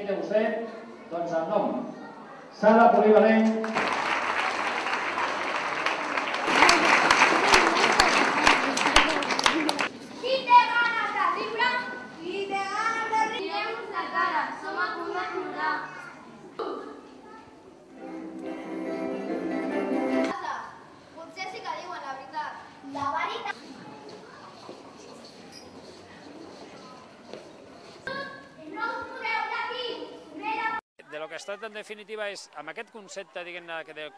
mireu vostè, doncs el nom. Sala polivalent. Qui té ganes de riure? Qui té ganes de riure? Mireu-nos la cara, som a punt de plorar. Potser sí que diuen la veritat. La veritat. De lo que es tracta en definitiva és, amb aquest concepte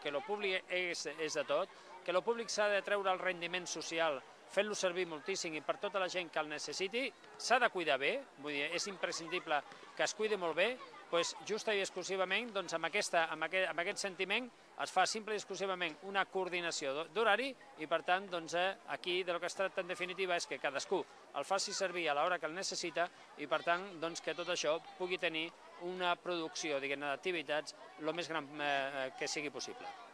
que lo públic és de tot, que lo públic s'ha de treure el rendiment social fent-lo servir moltíssim i per tota la gent que el necessiti, s'ha de cuidar bé, vull dir, és imprescindible que es cuidi molt bé, doncs just i exclusivament amb aquest sentiment es fa simple i exclusivament una coordinació d'horari i per tant aquí de lo que es tracta en definitiva és que cadascú el faci servir a l'hora que el necessita i per tant que tot això pugui tenir una producció d'activitats el més gran que sigui possible.